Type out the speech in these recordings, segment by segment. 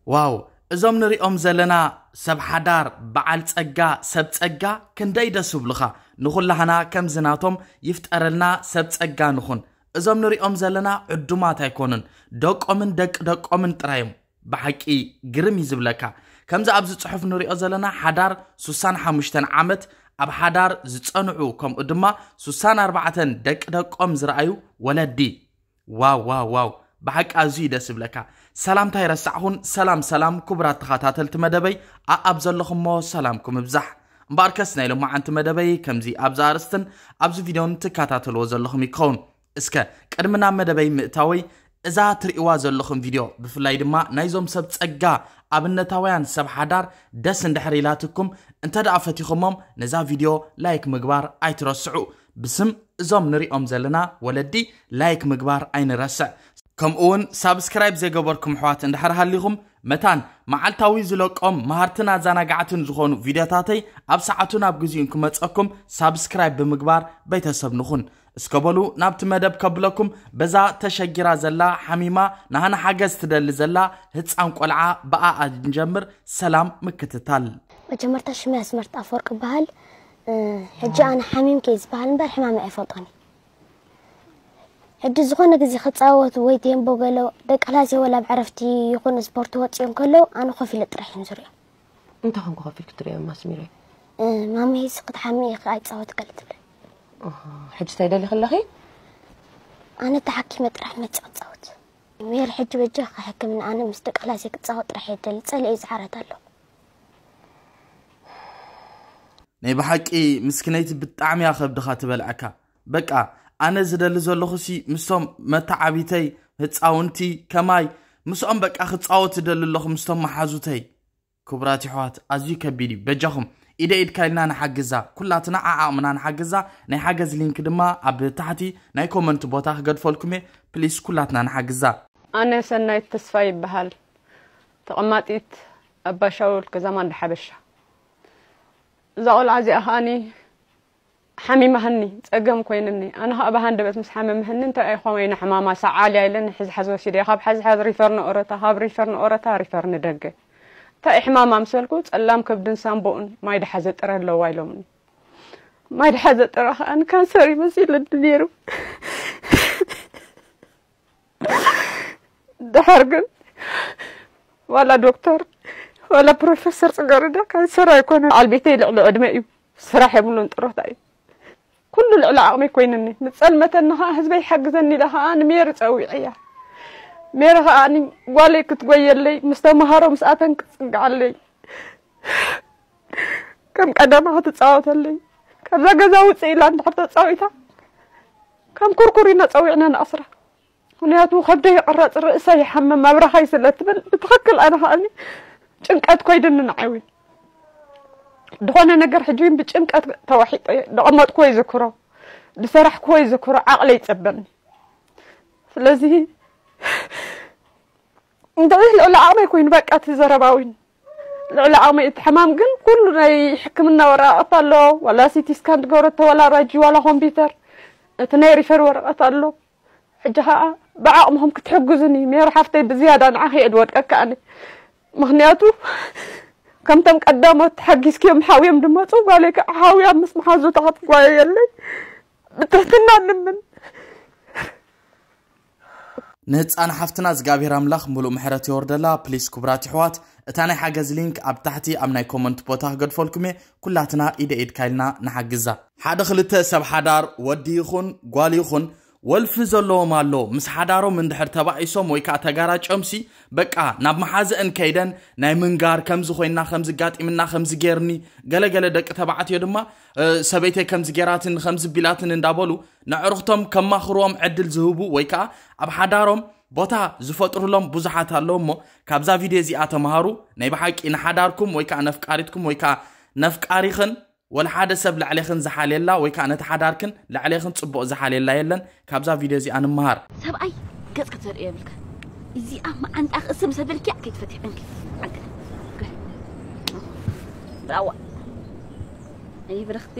ዋው፣ እዞም ንሪኦም ዘለና ሰብ ሓዳር፣ በዓል ጸጋ፣ ሰብ ጸጋ ክንደይ ደስ ይብሉኻ። ንኹላህና ከምዚ ናቶም ይፍጠረልና፣ ሰብ ጸጋ ንኹን። እዞም ንሪኦም ዘለና ዕዱማት ኣይኮኑን፣ ደቆምን ደቂ ደቆምን ጥራዮም። ብሓቂ ግርም እዩ ዝብለካ። ከምዚ ኣብዚ ጽሑፍ ንሪኦ ዘለና ሓዳር ሱሳን ሓሙሽተን ዓመት ኣብ ሓዳር ዝጸንዑ፣ ከምኡ ድማ ሱሳን ኣርባዕተን ደቂ ደቆም ዝረኣዩ ወለዲ። ዋው ዋው ዋው፣ ብሓቂ ኣዝዩ ደስ ይብለካ። ሰላምታ ይረሳዕኹን። ሰላም ሰላም ክቡራት ተኸታተልቲ መደበይ፣ ኣኣብ ዘለኹሞ ሰላምኩም ይብዛሕ። እምበኣርከስ ናይ ሎማዓንቲ መደበይ ከምዚ ኣብዚ ኣርእስትን ኣብዚ ቪድዮን ትከታተልዎ ዘለኹም ይከውን። እስከ ቅድሚ ናብ መደበይ ምእታወይ፣ እዛ ትርእይዋ ዘለኹም ቪድዮ ብፍላይ ድማ ናይዞም ሰብ ጸጋ ኣብነታውያን ሰብ ሓዳር ደስ እንድሕር ኢላትኩም፣ እንተ ደኣ ፈቲኹሞም ነዛ ቪድዮ ላይክ ምግባር ኣይትረስዑ። ብስም እዞም ንሪኦም ዘለና ወለዲ ላይክ ምግባር ኣይንረስዕ። ከምኡ እውን ሳብስክራይብ ዘይገበርኩም ኣሕዋት እንድሕር ሃሊኹም፣ መታን መዓልታዊ ዝለቆም መሃርትን ኣዘናጋዕትን ዝኾኑ ቪድዮታተይ ኣብ ሰዓቱ ናብ ግዜኡ ክመጸኩም ሳብስክራይብ ብምግባር ቤተሰብ ንኹን። እስከ በሉ ናብቲ መደብ ከብለኩም፣ በዛ ተሸጊራ ዘላ፣ ሓሚማ፣ ናህና ሓገዝ ትደሊ ዘላ ህጻን ቆልዓ ብኣኣ ንጀምር። ሰላም ምክትታል። መጀመርታ ሽመይ ኣስመርት ኣፈወርቅ ይበሃል። እ፣ ሕጂ ኣነ ሓሚም ከይ ዝበሃል እምበር ሕማም ኣይፈልጦን። ሕጂ ዝኾነ ግዜ ክጻወት ወይ ቴምቦ ገለ ደቂ ክላስ ወላ ኣብ ዕረፍቲ ይኹን ስፖርት ወጺኦም ከለዉ ኣነ ኮፍ ኢለ ጥራሕ እዮም ዝሪኦም። እንታይ ኮንኩ ኮፍ ኢልክ ትሪኦም ኣስሚረይ? እ፣ ማመይ ስክ ክትሓሚ ኢኺ ኣይጻወት ገለ ትብለኒ። ኣሃ፣ ሕጂ እንታይ ደሊኺ ኣለኺ? ኣነ ተሓኪመ ጥራሕ መጽእ ክጻወት። ሜር ሕጂ በጃኻ ሕክምና ኣነ ምስ ደቂ ክላሰይ ክጻወት ጥራሕ እየ ደሊ። ጸሊኤ ዝሓረት ኣለኹ። ናይ ብሓቂ ምስክነይቲ ብጣዕሚ እያ ከብድኻ ትበልዐካ። በቃ ኣነ ዝደሊ ዘለኹሲ ምስቶም መተዓቢተይ ህፃውንቲ ከማይ ምስኦም በቃ ክፃወት ዝደሊ ኣለኹ ምስቶም መሓዙተይ። ክቡራት ይሕዋት ኣዝዩ ከቢድ እዩ። በጃኹም ኢደ ኢድካ ኢልና ንሓግዛ። ኩላትና ዓዓቕምና ንሓግዛ። ናይ ሓገዝ ሊንክ ድማ ኣብ ታሕቲ ናይ ኮመንት ቦታ ክገድፈልኩም እየ። ፕሊስ ኩላትና ንሓግዛ። ኣነ ሰናይት ተስፋ ይበሃል። ተቐማጢት ኣባሻውል ከዛማ እንዳ ሓበሻ። እዛ ቆልዓ እዚኣ ከኣኒ ሓሚማህኒ፣ ጸገም ኮይንኒ። ኣነ ኸኣ ብሃንደበት ምስ ሓመምህኒ፣ እንታይ እዩ ኾመይ ንሕማማ ሰዓል ኢለን ሕዝሓዝ ወሲደ። ካብ ሕዝሓዝ ሪፈር ንኦረታ፣ ካብ ሪፈር ንኦረታ ሪፈር ንደገ። እንታይ እዩ ሕማማ ምስ በልኩ፣ ጸላም ከብድን ሳምቦኡን ማይ ድሓዘ ጥረ ኣለዋ ኢሎምኒ። ማይ ድሓዘ ጥረ ኸኣ ንካንሰር እዩ መሲሉኒ ነይሩ። ድሓር ግን ዋላ ዶክተር ዋላ ፕሮፌሰር ጽገረዳ ካንሰር ኣይኮነን። በዓል ቤተይ ልዕሊ ዕድመ እዩ። ስራሕ የብሉን፣ ጥሮታ እዩ። ኩሉ ልዕሊ ዓቕመይ ኮይንኒ። ምስ ጸልመተኒ ኸኣ ህዝበይ ይሓግዘኒ ኢለ ኸኣ ንሜሪ ጸዊዐያ። ሜሪ ኸኣ ጓለይ ክትጎየለይ ምስ ተመሃሮ ምስኣተን ክትጽግዓለይ ከም ቀደማ ክትጻወተለይ ካብዛ ገዛ ውጽእ ኢላ እንድሕር ተጻዊታ ከም ኩርኩር ኢና ጸዊዕና ንኣስራ። ምኽንያቱ ከብደይ ይቕረጽ፣ ርእሰይ ይሓምም፣ ኣብራኻይ ስለ ትብል ብትኽክል ኣነ ከኣኒ ጭንቀት ኮይድኒ ንዓይ እውን። ዝኾነ ነገር ሕጂ እውን ብጭንቀት ተዋሒጠ እየ። ዝቐመጥኩዎ ይዝክሮ፣ ዝሰራሕኩዎ ይዝክሮ፣ ዓቕለይ ይጸበኒ። ስለዚ እንታይ ልዕሊ ዓቕመይ ኮይኑ በቃ እቲ ዘረባ እውን ልዕሊ ዓቕመይ። እቲ ሕማም ግን ኩሉ ናይ ሕክምና ወረቓቕቲ ኣሎ፣ ዋላ ሲቲ ስካን ትገብረቶ፣ ዋላ ራጂ፣ ዋላ ኮምፒውተር፣ እቲ ናይ ሪፈር ወረቐት ኣሎ። ሕጂ ኸዓ ብዓቕምኹም ክትሕግዙኒ፣ ሜሪ ሓፍተይ ብዝያዳ ንዓኺ እየ ዝወድቀካ ኣነ። ምኽንያቱ ከምቶም ቀዳሞት ሓጊዝክዮም ሓውዮም ድመፁ፣ ጓለይ ከዓ ሓውያ ምስ መሓዙታ ክትጓየየለይ ብትሕትና ንምን። ንህፃን ሓፍትና እግዚኣብሔር ኣምላኽ ምሉእ ምሕረት የወርደላ። ፕሊስ ክቡራት ይሕዋት፣ እታ ናይ ሓገዝ ሊንክ ኣብ ታሕቲ ኣብ ናይ ኮመንት ቦታ ክገድፈልኩም እየ። ኩላትና ኢደ ኢድካ ኢልና ንሓግዛ። ሓደ ክልተ ሰብ ሓዳር ወዲ ይኹን ጓል ይኹን ወልፊ ዘለዎም ኣሎ፣ ምስ ሓዳሮም እንድሕር ተባኢሶም ወይ ከዓ ተጋራጭዮምሲ በቃ ናብ መሓዘእን ከይደን ናይ ምንጋር፣ ከምዚ ኮይና፣ ከምዚ ጋጢምና፣ ከምዚ ጌርኒ፣ ገለገለ ደቂ ተባዕትዮ ድማ እ፣ ሰበይተይ ከምዚ ጌራትን ከምዚ ቢላትን እንዳበሉ ነዕርኽቶም ከማኽርዎም ዕድል ዝህቡ ወይ ከዓ ኣብ ሓዳሮም ቦታ ዝፈጥሩሎም ብዙሓት ኣለዉ። እሞ ካብዛ ቪድዮ እዚኣ ተምሃሩ። ናይ ብሓቂ ንሓዳርኩም ወይ ከዓ ነፍቃሪትኩም ወይ ከዓ ነፍቃሪኽን ወላ ሓደ ሰብ ልዕሌኽን ዝሓልየላ ወይ ከዓ ነቲ ሓዳርክን ልዕሌኽን ጽቡቕ ዝሓልየላ የለን። ካብዛ ቪድዮ እዚኣ ንምሃር። ሰብኣይ ገጽ ክትዘርእዮ የብልካ። እዚኣ መዓንጣ ክእስም ሰበልኪያ ከይትፈትሕ ዕንኪ። ዕንኪ። ብራዋ። ኣይ ብርኽቲ።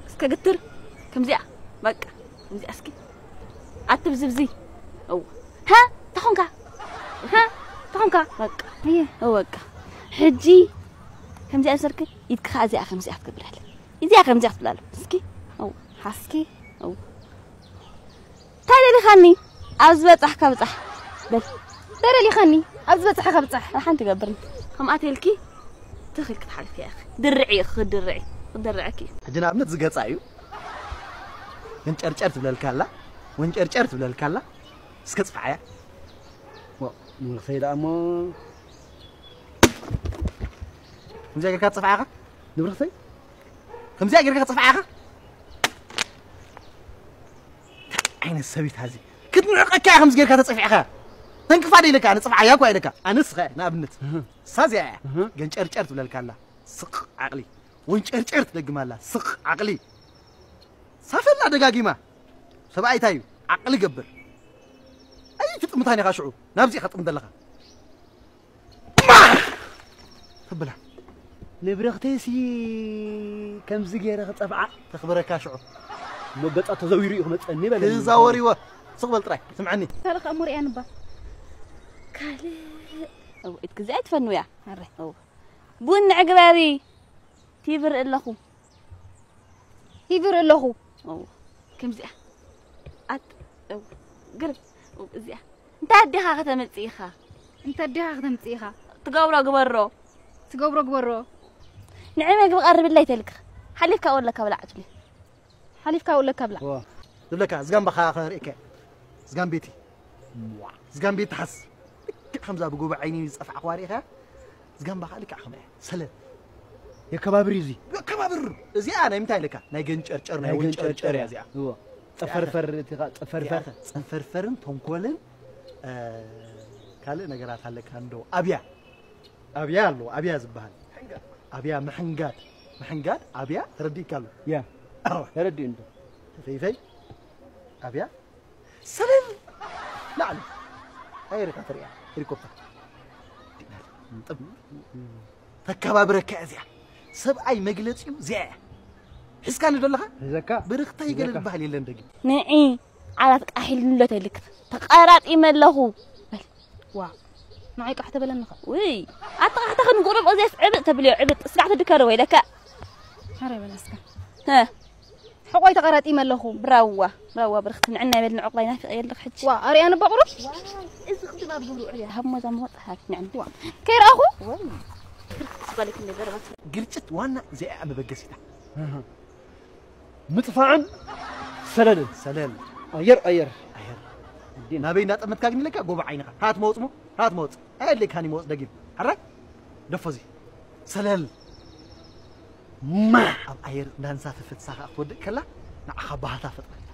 እስከ ግትር። ከምዚኣ። በቃ። ከምዚኣ እስኪ። ኣትብዝብዚ። እዋ። ሃ? ተኾንካ? ሃ? ተኾንካ በቃ እየ እወ በቃ ሕጂ ከምዚኣ ሰርክ ኢድካ እዚኣ ከምዚኣ ትገብራለ እዚኣ ከምዚኣ ትብላለ እስኪ እው ሓስኪ እው እንታይ ደሊኻኒ ኣብ ዝበጻሕካ ብጻሕ በል ደረሊኻኒ ኣብ ዝበጽሐ ከብጻሕ ሓንቲ ገብርኒ ከምኣ ተልኪ ትኽል ክትሓልፊ ኢኺ ድርዒ ኢኺ ክትድርዒ ክድርዐኪ እዩ ሕጂ ንኣብነት ዝገጻ እዩ። ወንጨርጨር ትብለልካ ኣላ፣ ወንጨርጨር ትብለልካ ኣላ። እስከ ጽፍዓያ። ዋ፣ ንብረኽተይ ደኣ እሞ። ከምዚኣ ጌርካ ትጽፍዓኻ? ንብረኽተይ? ከምዚኣ ጌርካ ትጽፍዓኻ? እንታይ ዓይነት ሰብ እዩ እዚ? ክትንዕቀካ እያ ከምዚ ጌርካ ተጸፊዕኻ። ተንክፋ ዶ ኢለካ? ኣነ ጽፍዓያ እኳ ኢለካ። ኣነስ ኸ ንኣብነት። እህ። እሳ እዚኣ እያ። እህ። ገንጨርጨር ትብለልካ ኣላ። ስቕ ዓቕሊ። ወንጨርጨር ትደግም ኣላ። ስቕ ዓቕሊ። ሳፈላ ደጋጊማ። ሰብኣይ እንታይ እዩ? ዓቕሊ ገብር። ኣይትጥምታን ኢኻ ሽዑ። ናብዚ ኢኻ ጥምት ዘለኻ። ማር! ተብላ። ንብረኽተይሲ ከምዚ ገይረ ክጸፍዓ ተኽብረካ ሽዑ። እሞ ገጻ ተዘዊሩ እዩ ክመጸኒ በለኒ። ክዛወር ይወ። ስቕ በል ጥራይ። ስምዓኒ። ካልእ ከኣ እሞ ሪኣኒ እባ። ካልእ። እው፣ ኢድ ግዜ ኣይትፈንውያ። ኣረ። እው። ቡን ንዕግበሪ። ቲብር ኣለኹ። ቲብር ኣለኹ። እው። ከምዚኣ። ኣት-፣ እው። ግርም። እው፣ እዚኣ። እንታይ ኣዴኻ ከተመጽእ ኢኻ? እንታይ ኣዴኻ ከተምጽእ ኢኻ? ትገብሮ ግበሮ። ትገብሮ ግበሮ። ንዒ መግቢ ቀርብለይ ተልክ። ሓሊፍካ ወለካ ብላዕ ትብሊ። ሓሊፍካ ወለካ ብላዕ። እዋ። ዝብለካ፣ ዝጋምባኻ ኸርእየካ። ዝጋምቤቲ። ዝጋምቤቲ ሓስ። ልክዕ ከምዛ ብጎቦ ዓይኒ ዝጸፍዕኽዋ ርኢኻ? ዝጋምባኻ ልክዕ ከምኣ እያ። ሰለል። የከባብር እዩ እዚ። የከባብር። እዚኣ ናይ ምንታይ ኣለካ? ናይ ገንጨርጨር፣ ናይ ናይ ወንጨርጨር ገንጨርጨር እያ እያ። እዚኣ። እዋ። ጠፈርፈር እቲ ኸ-፣ ጠፈርፈር። እዚኣ ጸንፈርፈርን ተንኮልን፣ እ፣ ካልእ ነገራት ኣለካ እንዶ። ኣብያ። ኣብያ ኣሎ፣ ኣብያ ዝበሃል። ኣብያ ምሕንጋድ። ምሕንጋድ፣ ኣብያ ተረዲእካ ኣሎ። ያ። ኣዎ። ተረዲኡ እንዶ። ፈይፈይ። ኣብያ። ሰለል። ላዕሊ። ኣየር ኢኻ ትሪኣ። ሄሊኮፕተር። ጥብ። ተከባብረካ እዚኣ። ሰብኣይ መግለጺኡ እዚኣ እያ። ሒዝካኒ ዶ ኣለኻ? ሒዘካ። ብርኽተይ ገለ ሒዘካ። ዝበሃል የለን ደጊም። ንዒ ዓራት ቃሒል ንሎ ተልክ። ተቐራጢመ ኣለኹ። በል። ዋ። ንዓይ ቃሕ ተበለኒ ኸ። ውይ። ኣተቓሕታ ክንጉርም እዚያስ ዕብጥ ተብልዮ፣ ዕብጥ። ስጋዕ ትድከር ወይ ለካ። ሓረ በል እስከ። ሀ። ሕቆይ ተቐራጢመ ኣለኹ። ብራዋ፣ ብራዋ ብርኽቲ ንዕና ይበል ንዕቑባይ ናፊቐ የለኽ ሕጂ። ዋ፣ ኣርያኒ በቑሩ? እዚ ቅድም ኣብ ዙሩ ዕልያ። ሃብ ሞዛ መወጽ ሃብ ንዕና። ዋ። ከይረኣኹ? ወይ። ብርኽቲ ዝበለክ ነገር ባት። ግርጭት ዋና እዚኣ እያ መበገሲታ። ምጥፋዕን ሰለልን። ሰለል። ኣየር፣ ኣየር። ኣየር። ኣዴና። ናበይ እንዳጠመትካ ግን ኢለካ ጎቦ ዓይንኻ። ሃት መውጽ ሞ፣ ሃት መውጽ። ኣየድልየካን እዩ መውጽ ደጊም። ሕራይ? ደፎ እዚ። ሰለል። ማ! ኣብ ኣየር እንዳንሳፈፈት ሳኻ ክትወድቅ ከላ፣ ንዓኻ ባህታ ፈጥረልካ።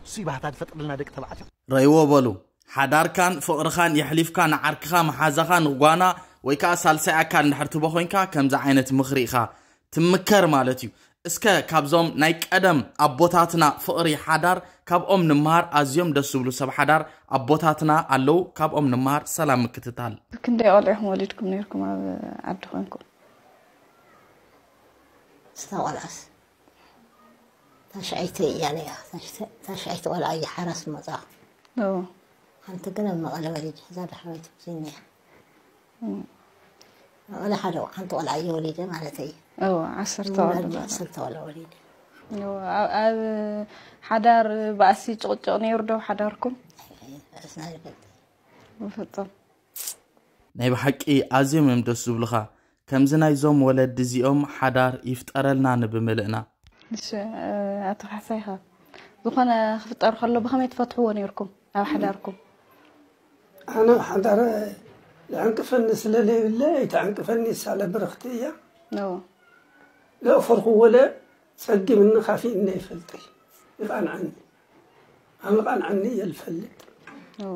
እሱ እዩ ባህታ ዝፈጥረልና ደቂ ተባዕትዮ። ረይዎ በሉ። ሓዳርካን ፍቕርኻን የሕሊፍካ ንዓርክኻ፣ መሓዛኻ፣ ንጓና ወይ ከኣ ሳልሳይ ኣካል እንድሕር ትቦ ኮይንካ፣ ከምዚ ዓይነት ምኽሪ ኢኻ ትምከር ማለት እዩ። እስከ ካብዞም ናይ ቀደም ኣቦታትና ፍቕሪ ሓዳር ካብኦም ንመሃር። ኣዝዮም ደስ ዝብሉ ሰብ ሓዳር ኣቦታትና ኣለዉ፣ ካብኦም ንመሃር። ሰላም ምክትታል። ክንደይ ቆልዑኹም ወሊድኩም ነይርኩም ኣብ ዓዲ ኮንኩም? እታ ቆልዓስ ታሽዐይቲ እያ ነያ። ታሽተ-፣ ታሽዐይቲ ቆልዓ እያ ሓራስ መጻኹ። ኦ። ሓንቲ ግን ኣብ መቐለ ወሊድ ሕዛ ዳሕረይቲ ብዙኛ። መቐለ ሓደ ሓንቲ ቆልዓ እየ ወሊደ ማለት እዩ። ኦ፣ ዓሰርተ ቆልዓ ማለት። ዓሰርተ ቆልዓ ወሊደ። ኦ፣ ኣብ፣ ኣብ ሓዳር ባእሲ ጭቕጭቕ ነይሩ ዶ ሓዳርኩም? ኣይ፣ ኣይ፣ ርእስና ይፈልጥ። ብፍጹም። ናይ ብሓቂ ኣዝዮም እዮም ደስ ዝብሉኻ። ከምዚ ናይዞም ወለዲ እዚኦም ሓዳር ይፍጠረልና ንብምልእና። እሺ፣ ኣቶ ካሕሳይኻ ዝኾነ ክፍጠር ከሎ ብኸመይ ትፈትሕዎ ነይርኩም ኣብ ሓዳርኩም? ኣነ ኣብ ሓዳር ዝዕንቅፈኒ ስለ ዘይብለ ኣይትዕንቅፈኒ ሳለ ብርኽቲ እያ። እዎ። ዘእፈርኩዎ ለ ጸጊምኒ ካፊእኒ ኣይፈልጥይ። ይቓንዓኒ። ኣነ ቃንዓኒ እየ ዝፈልጥ። እዎ።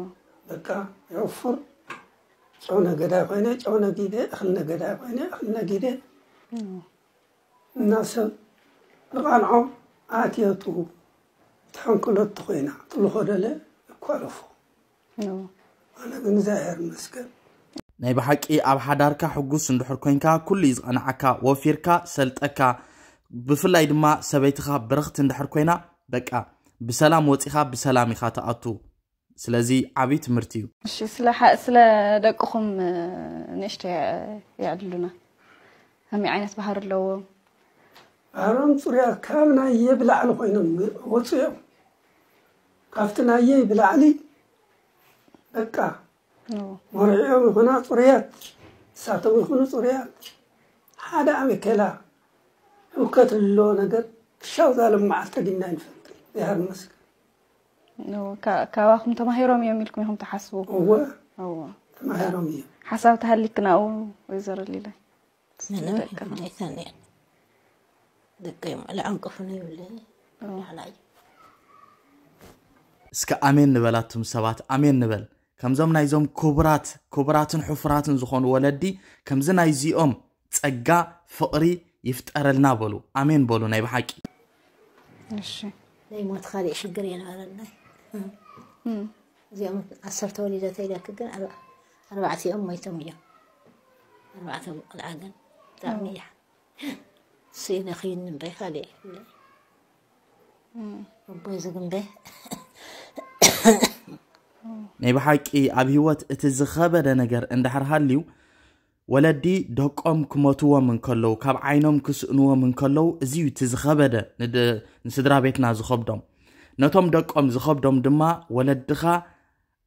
በቃ የውፍር ጨው ነገዳይ ኮይነ ጨው ነጊደ፣ እኽሊ ነገዳይ ኮይነ እኽሊ ነጊደ። እዎ። እና ሰብ ንቓንዖ ኣትየቱ ተሐንክለቱ ኮይና ትልኾደለ ይኳለፎ። እዎ። ኣነ ግን እግዚኣብሔር ይመስገን። ናይ ብሓቂ ኣብ ሓዳርካ ሕጉስ እንድሕር ኮንካ ኩሉ እዩ ዝቐንዓካ፣ ወፊርካ፣ ሰልጠካ። ብፍላይ ድማ ሰበይትኻ ብርኽቲ እንድሕር ኮይና በቃ ብሰላም ወጺኻ ብሰላም ኢኻ ትኣቱ። ስለዚ ዓብዪ ትምህርቲ እዩ። እሺ፣ ስለ ሓ- ስለ ደቅኹም እ፣ ንእሽተይ የ- የዕልሉና። ከመይ ዓይነት ባህሪ ኣለዎም? ባህሮም ፅሩያት ካብ ናየ ብላዕሊ ኮይኖም ወፁ እዮም። ካብቲ ናየ ብላዕሊ በቃ ኖ። መርዕኦም ይኹና ፅሩያት፣ እሳቶም ይኹኑ ፅሩያት። ሓደ ኣመኬላ ህውከት ዘለዎ ነገር ክሻው ዛሎም መዓልቲ ዲና ይንፈልጥ። ይሃር መስገን ኖ፣ ካ- ካባኹም ተማሂሮም እዮም ኢልኩም ኢኹም ትሓስቡ? እወ እዎ። ተማሂሮም እዮም። ሓሳብ ተሃሊክ ናኡ ወይዘሮ ሊላይ። ምንም ኣይተንየን። ደቀይ ምዕለ ዓንቀፉ ነይብለይ። ላዕላይ እስከ ኣሜን ንበል ኣቱም ሰባት፣ ኣሜን ንበል። ከምዞም ናይዞም ክቡራት ክቡራትን ሕፉራትን ዝኾኑ ወለዲ ከምዚ ናይዚኦም ጸጋ ፍቕሪ ይፍጠረልና በሉ። ኣሜን በሉ ናይ ብሓቂ። እሺ ናይ ሞት ካሊእ ሽግር የነበረና። እዚኦም ዓሰርተ ወሊደ ተይለክ ግን ኣርባ- ኣርባዕቲኦም ሞይቶም እዮም። ኣርባዕተ ቆልዓ ግን ብጣዕሚ እያ ስኢነ ክይኒ እምበይ ካልእ የብለይ። ኣቦይ ዝግንበ ናይ ብሓቂ ኣብ ህይወት እቲ ዝኸበደ ነገር እንድሕር ሃልዩ ወለዲ ደቆም ክመትዎም እንከለዉ ካብ ዓይኖም ክስእንዎም እንከለዉ እዚ እዩ እቲ ዝኸበደ ንድ- ንስድራ ቤትና ዝኸብዶም። ነቶም ደቆም ዝኸብዶም ድማ ወለድኻ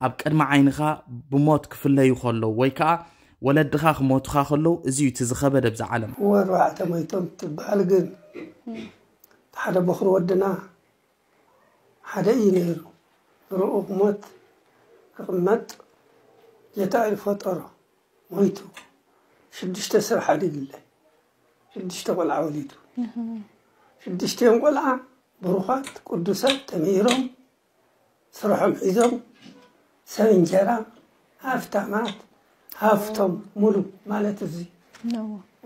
ኣብ ቅድሚ ዓይንኻ ብሞት ክፍለዩ ከለዉ ወይ ከዓ ወለድኻ ክሞቱኻ ከለዉ እዚ እዩ እቲ ዝኸበደ ብዛ ዓለም። ወርባዕተ ሞይቶም ትበሃል ግን ሓደ በኹሪ ወድና ሓደ እዩ ነይሩ። ንርኡ ክሞት ክቕመጥ ጌታ እዩ ፈጠሮ። ሞይቱ ሽዱሽተ ሰብ ሓዲግለ ሽዱሽተ ቆልዓ ወሊዱ። ሽዱሽቲኦም ቆልዓ ብሩኻት ቅዱሳት ተምሂሮም ስርሖም ሒዞም ሰብ እንጀራ ሃፍታማት ሃፍቶም ሙሉ ማለት እዚ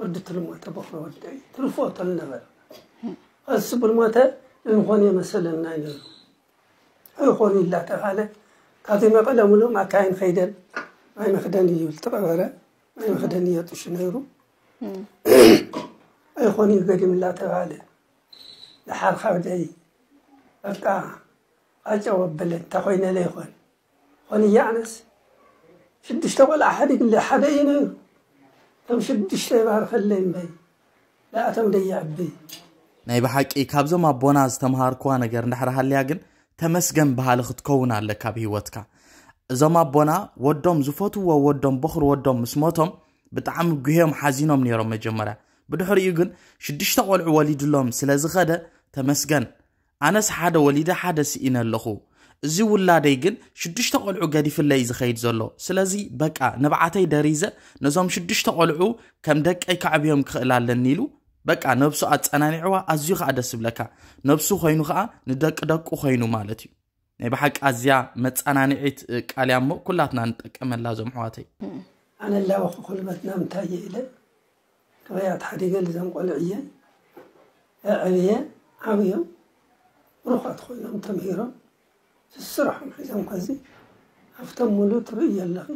ወዲ ትልሞ ተበክሮ ወዲ እዩ ትርፎ ተልነበረ እሱ ብልሞተ እንኾን የመሰለና ይነሩ ኣይኾኑ ይላተባለ ካብዚ መቐለ ሙሉ ማካይን ኸይደን ማይ መኽደን እዩ ዝተቐበረ ማይ መኽደን እየጥሹ ነይሩ ኣይኾኑ ይገዲም እናተባለ ደሓር ካብ ደይ በቃ ኣጨው ኣበለ እንተ ኮይነ ለይኮን ኾን እያዕነስ ሽዱሽተ ቆልዓ ሓዲግለ ሓደ እዩ ነይሩ እቶም ሽዱሽተ ይባርኸለይ እምበይ ንኣቶም ደየዕቢ ናይ ብሓቂ ካብዞም ኣቦና ዝተምሃርክዋ ነገር እንድሕር ሃልያ ግን ተመስገን በሃሊ ክትከውን ኣለካ ኣብ ህይወትካ። እዞም ኣቦና ወዶም ዝፈትዎ ወዶም በኹሪ ወዶም ምስ ሞቶም ብጣዕሚ ጉህዮም ሓዚኖም ነይሮም መጀመርያ። ብድሕሪኡ ግን ሽዱሽተ ቆልዑ ወሊድሎም ስለ ዝኸደ ተመስገን ኣነስ ሓደ ወሊደ ሓደ ስኢነ ኣለኹ። እዚ ውላደይ ግን ሽዱሽተ ቆልዑ ገዲፍለይ ዝኸይድ ዘሎ። ስለዚ በቃ ንብዓተይ ደሪዘ ነዞም ሽዱሽተ ቆልዑ ከም ደቀይ ከዕብዮም ክኽእል ኣለኒ ኢሉ በቃ ነብሱ ኣጸናኒዕዋ ኣዝዩ ከኣ ደስ ብለካ። ነብሱ ኮይኑ ከኣ ንደቂ ደቁ ኮይኑ ማለት እዩ። ናይ ብሓቂ ኣዝያ መጸናንዒት ቃል እያ እሞ ኩላትና ንጠቀመላ እዞም ኣሕዋተይ። ኣነ ላበኹ ኩልበትና ምንታይ እየ ኢለ ክበያት ሓዲገ ልዘም ቆልዕ እየ ኣዕብየ ዓብዮም ብሩኻት ኮይኖም ተምሂሮም ስስራሖም ሒዞም ከዚ ኣብቶም ሙሉ ትርእይ ኣለኺ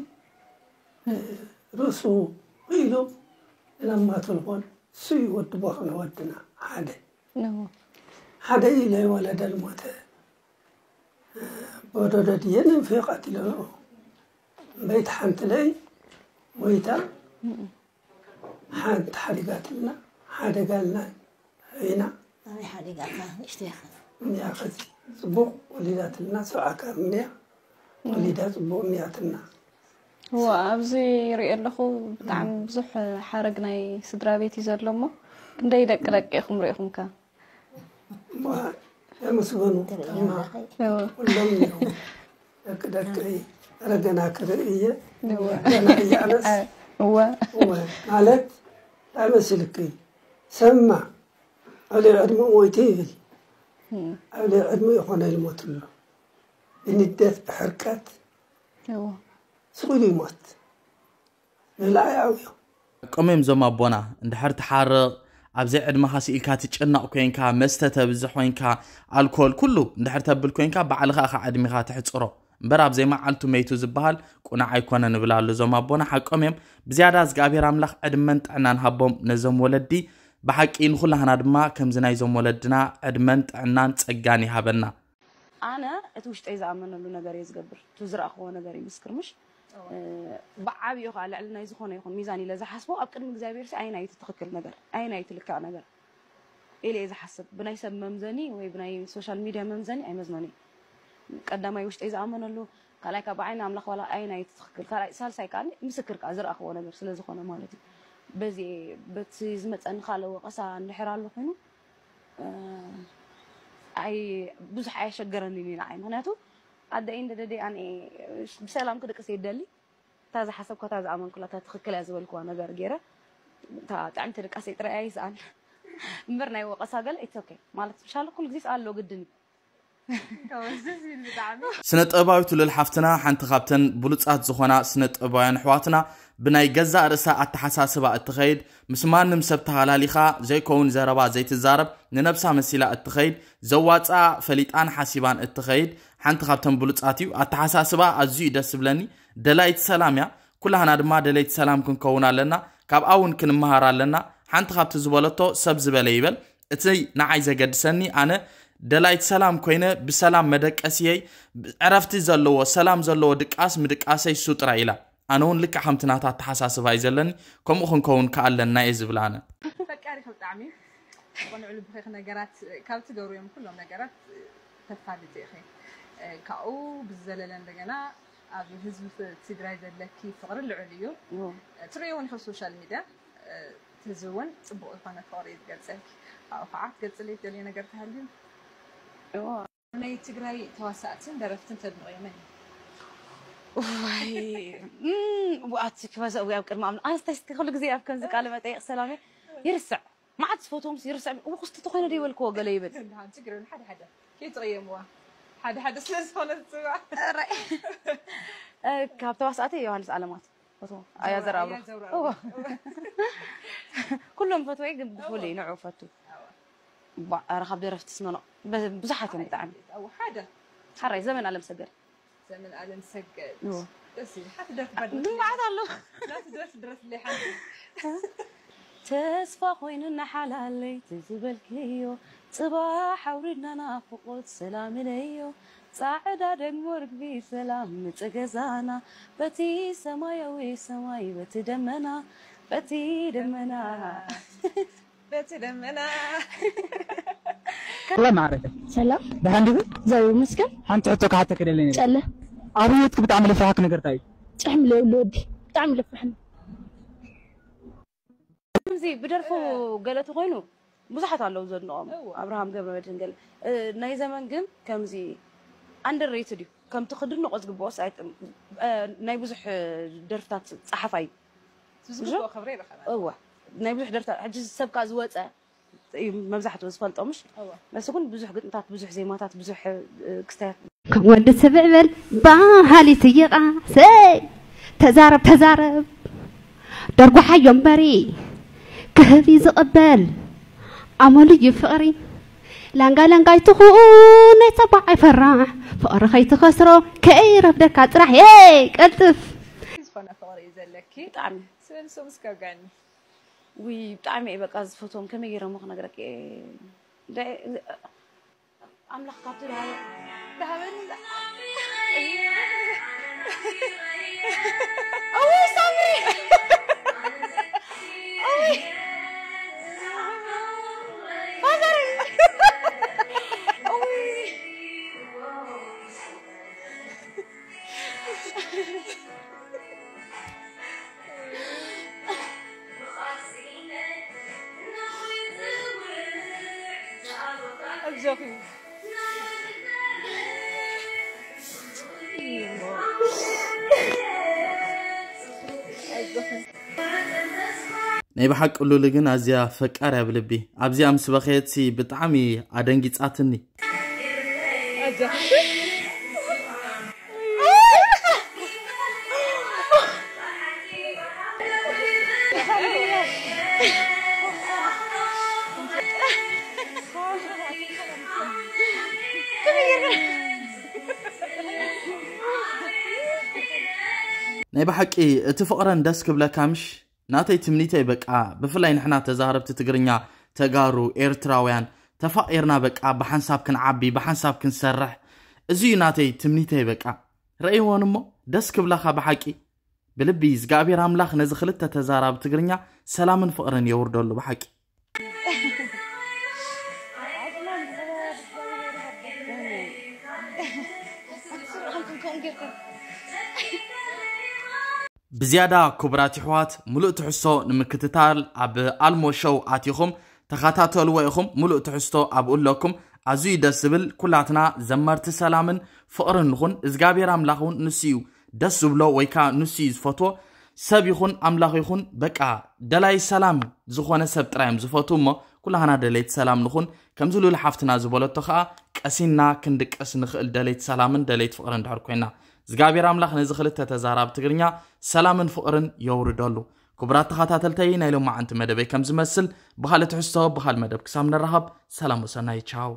ርእሱ ኢሉ ለማቱ ልኾን እሱ እዩ ወዲ ቦኽነ ወድና ሓደ ሓደ እዩ ለይወለደ ልሞተ በዶዶ ድየ ንንፍዮ ቀቲለንኦ እምበይቲ ሓንቲ ለይ ሞይታ ሓንቲ ሓዲጋትልና ሓደጋልና ኢና ኣበይ ሓዲጋታ ንእሽተይ ኢኻ እንዲያ ከዚ ፅቡቕ ወሊዳትልና ሰብዓ ካር እንዲያ ወሊዳ ፅቡቕ እንዲያትና እዎ ኣብዚ ይሪኦ ኣለኹ ብጣዕሚ ብዙሕ ሓረግ ናይ ስድራ ቤት እዩ ዘሎ እሞ ክንደይ ደቂ ደቂ ኢኹም ሪኢኹም ከ የመስገኑ ተማ ኩሎም እዮም ደቂ ደቂ ረገና ክርኢ እየ ገና እያነስ እወ ማለት እንታይ መሲልኪ ሰማ ኣብ ልዕሊ ዕድመ ሞይተ ይብል ኣብ ልዕሊ ዕድመ ይኾነ ይልሞት ኣሎ ብንደት ብሕርቀት ስቕ ኢሉ ይሞት ንላዕሊ ኣውዮም ቀሚም ዞም ኣቦና እንድሕር ትሓርቕ ኣብ ዘይዕድመኻ ስኢልካ ትጭነቕ ኮይንካ መስተ ተብዝሕ ኮይንካ ኣልኮል ኩሉ እንድሕር ተብል ኮይንካ ባዕልኻ ኢኻ ዕድሜኻ ትሕፅሮ እምበር ኣብ ዘይመዓልቱ መይቱ ዝበሃል ቁኑዕ ኣይኮነ ንብል ኣሎ እዞም ኣቦና ሓቆም እዮም ብዝያዳ እግዚኣብሔር ኣምላኽ ዕድመን ጥዕናን ሃቦም ነዞም ወለዲ ብሓቂ ንኹላህና ድማ ከምዚ ናይዞም ወለድና ዕድመን ጥዕናን ጸጋን ይሃበና ኣነ እቲ ውሽጠይ ዝኣመነሉ ነገር እየ ዝገብር። እቲ ዝረኣኽዎ ነገር ይምስክር፣ ምሽ? ብዓብዩ ከዓ ልዕሊ ናይ ዝኾነ ይኹን ሚዛን ኢለ ዝሓስቦ ኣብ ቅድሚ እግዚኣብሔር ሲ ኣይናይቲ ትኽክል ነገር፣ ኣይናይቲ ልክዕ ነገር ኢለ እየ ዝሓስብ። ብናይ ሰብ መምዘኒ ወይ ብናይ ሶሻል ሚድያ መምዘኒ ኣይመዝኖን እየ። ቀዳማይ ውሽጠይ ዝኣመነሉ፣ ካልኣይ ካብ ዓይኒ ኣምላኽ ዋላ ኣይናይቲ ትኽክል፣ ካልኣይ ሳልሳይ ከዓ ምስክር ከዓ ዝረኣኽዎ ነገር ስለ ዝኾነ ማለት እዩ። በዚ በቲ ዝመፀኒ ካልእ ወቀሳ እንድሕር ኣሎ ኮይኑ ኣይ ብዙሕ ኣየሸገረኒን እዩ ንዓይ። ምክንያቱ ኣደ ኢንደ ደደ ኣነ ብሰላም ክድቅስ ይደሊ። እታ ዝሓሰብኳ እታ ዝኣመንኩላ እታ ትኽክል እያ ዝበልኩዋ ነገር ገይረ እታ ጥዕምቲ ድቃሰይ ጥራይ ኣይስኣን እምበር ናይ ወቀሳ ገለ it's okay ማለት ምሻለ ኩሉ ግዜ ኣሎ ግድን እዩ። ስነ ጥበባዊት ሉል ሓፍትና ሓንቲ ካብተን ብሉጻት ዝኾና ስነ ጥበባውያን ኣሕዋትና ብናይ ገዛእ ርእሳ ኣተሓሳስባ እትኸይድ ምስ ማንም ሰብ ተሃላሊኻ ዘይከውን ዘረባ ዘይትዛረብ ንነብሳ መሲላ እትኸይድ ዘዋፅኣ ፈሊጣን ሓሲባን እትኸይድ ሓንቲ ካብተን ብሉፃት እዩ። ኣተሓሳስባ ኣዝዩ እዩ ደስ ዝብለኒ። ደላይቲ ሰላም እያ። ኩላህና ድማ ደለይቲ ሰላም ክንከውን ኣለና። ካብኣ እውን ክንመሃር ኣለና። ሓንቲ ካብቲ ዝበለቶ ሰብ ዝበለ ይበል። እቲ ንዓይ ዘገድሰኒ ኣነ ደላይቲ ሰላም ኮይነ ብሰላም መደቀስየይ ዕረፍቲ ዘለዎ ሰላም ዘለዎ ድቃስ ምድቃሰይ እሱ ጥራይ ኢላ። ኣነ እውን ልክዕ ከምቲ ናታ ኣተሓሳስባ እዩ ዘለኒ። ከምኡ ክንከውን ከኣለና እየ ዝብል ኣነ። ፈቃሪኺ ብጣዕሚ ብቕኑዕ ልብኺ ኢኺ ነገራት ካብ ትገብርዮም ኩሎም ነገራት ተፋልጢ ኢኺ። ካብኡ ብዝዘለለ እንደገና ኣብ ህዝቢ ትግራይ ዘለኪ ፍቕሪ ልዑል እዩ። ትርእዮ እውን ኢኺ ኣብ ሶሻል ሚድያ። እቲ ህዝቢ እውን ፅቡቕ ዝኾነ ፍቕሪ እዩ ዝገልፀልኪ። ካብኡ ከዓ ክትገልፅለይ ትደልዮ ነገር ተሃልዩ? ናይ ትግራይ ተዋሳእትን ደረፍትን ተድንቕዮ መን እዩ? ዋይ ኣቲ ክበዛ እዊ ኣብ ቅድሚ ኣምና ኣንስታይ እስኪ ኩሉ ግዜ ኣብ ከምዚ ቃለ መጠይቕ ሰላሜ ይርስዕ መዓት ዝፈትዎም ይርስዕ እው ክስቲ ተኾይነ ደይበልክዎ ገለ ይብል። ሓደ ሓደ ከይትቕየምዋ ሓደ ሓደ ስለ ዝኾነ ዝፅዋዕ ካብ ተዋሳእቲ ዮሃንስ ኣለማት ፈትዎ ኣያ ዘርኣብሩ ኩሎም ፈትወይ ግን ብፍሉይ ንዑ ፈቱ ኧረ ካብ ደረፍቲ ስመኖ ብዙሓት እዮም ብጣዕሚ ሓደ ሓራይ ዘመን ኣለምሰገድ ዘመን ኣለምሰገድ ደስ ይብል ሓንቲ ደርፊ ባድልምዓት ኣሎ ናቲ ደርፊ ድረፍለይ ሓንቲ ተስፋ ኮይኑና ሓላለይቲ ዝበልክዮ ፅባሕ ኣውሪድና ናፍቆት ሰላም ኢለዮ ፃዕዳ ደግሞ ርግቢ ሰላም ምፅ ገዛና በቲ ሰማያዊ ሰማይ በቲ ደመና በቲ ደመና በቲ ደመና ሰላም ማዕረገ ሰላም ደሓን ዲኺ? እግዚኣብሔር ይመስገን። ሓንቲ ሕቶ ክሓተኪ ደለኒ ነይረ። ጨለ ኣብ ህይወትኪ ብጣዕሚ ለፍሓኪ ነገር እንታይ እዩ? ጭሕሚ ለብሉ ወዲ ብጣዕሚ ለፍሕኒ። ከምዚ ብደርፉ ገለ ተኾይኑ ብዙሓት ኣለዉ ዘድንቖም እወ። ኣብርሃም ገብረመድህን ገለ እ፣ ናይ ዘመን ግን ከምዚ ኣንደር ሬትድ እዩ ከምቲ ክድንቖ ዝግብኦስ ኣይጥ- እ፣ ናይ ብዙሕ ደርፍታት ፀሓፋይ እዩ ዝግብኦ ክብሪ ይረኸበ እወ ናይ ብዙሕ ደርፍታት ሕጂ ሰብ ከኣ ዝወፀ እዩ መብዛሕትኡ ዝፈልጦ ምሽ እወ በስ ግን ብዙሕ ግጥምታት ብዙሕ ዜማታት ብዙሕ እ፣ ክስታያት ከም ወዲ ስብዕ በል ባህሊ ትይቓ ሰይ ተዛረብ ተዛረብ ደርጉሓዮ እምበሪ ክህብ እዩ ዝቕበል ኣመሉ እዩ ፍቕሪ ላንጋ ላንጋ ኣይትኹን ናይ ሰባዕ ኣይፈራሕ ፍቕሪ ከይትኸስሮ ከይረፍደካ ጥራሕ የ ቀልጥፍ ዝኾነ ፍቕሪ እዩ ዘለኪ ብጣዕሚ ስብን ሱም እስከብጋኒ ውይ ብጣዕሚ እየ በቃ ዝፈትዎም ከመይ ገይረ እሞ ክነግረኪ እየ እንደ ኣምላኽ ካብቲ ዝሃበ ዝሃበኒ እውይ ሳምሪ እውይ ፋዘር እውይ ናይ ብሓቂ ሉሊ ግን ኣዝያ ፈቃር እያ ብልቢ ኣብዚኣ ምስ በኸየትሲ ብጣዕሚ ኣደንጊጻትኒ ናይ ብሓቂ እቲ ፍቕረን ደስ ክብለካ ምሽ ናተይ ትምኒተይ በቃ ብፍላይ ንሕና ተዛረብቲ ትግርኛ ተጋሩ ኤርትራውያን ተፋቒርና በቃ ብሓንሳብ ክንዓቢ ብሓንሳብ ክንሰርሕ እዚ እዩ ናተይ ትምኒተይ። በቃ ረእይዎን እሞ ደስ ክብላኻ ብሓቂ። ብልቢ እግዚኣብሔር ኣምላኽ ነዚ ክልተ ተዛራቢ ትግርኛ ሰላምን ፍቕርን የውርደሉ ብሓቂ። ብዝያዳ ክቡራት ይሕዋት፣ ሙሉእ ትሕዝቶ ንምክትታል ኣብ ኣልሞ ሾው ኣቲኹም ተኸታተልዎ ኢኹም። ሙሉእ ትሕዝቶ ኣብኡ ኣለኩም። ኣዝዩ ደስ ዝብል። ኩላትና ዘመርቲ ሰላምን ፍቕርን ንኹን። እግዚኣብሔር ኣምላኽ እውን ንሱ እዩ ደስ ዝብሎ ወይ ከዓ ንሱ እዩ ዝፈትዎ። ሰብ ይኹን ኣምላኽ ይኹን በቃ ደላይ ሰላም ዝኾነ ሰብ ጥራይ እዮም ዝፈትዉ እሞ ኩላህና ደለይቲ ሰላም ንኹን። ከምዚ ሉል ሓፍትና ዝበለቶ ከዓ ቀሲንና ክንድቀስ ንኽእል ደለይቲ ሰላምን ደለይቲ ፍቕርን ድሕር ኮይና እግዚኣብሔር ኣምላኽ ነዚ ክልተ ተዛራብ ትግርኛ ሰላምን ፍቕርን የውርደሉ። ክቡራት ተኸታተልተይ ናይ ሎማዓንቲ መደበይ ከም ዝመስል ብኻልእ ትሕዝቶ ብኻልእ መደብ ክሳብ ንራኸብ ሰላም ወሰናይ ቻው።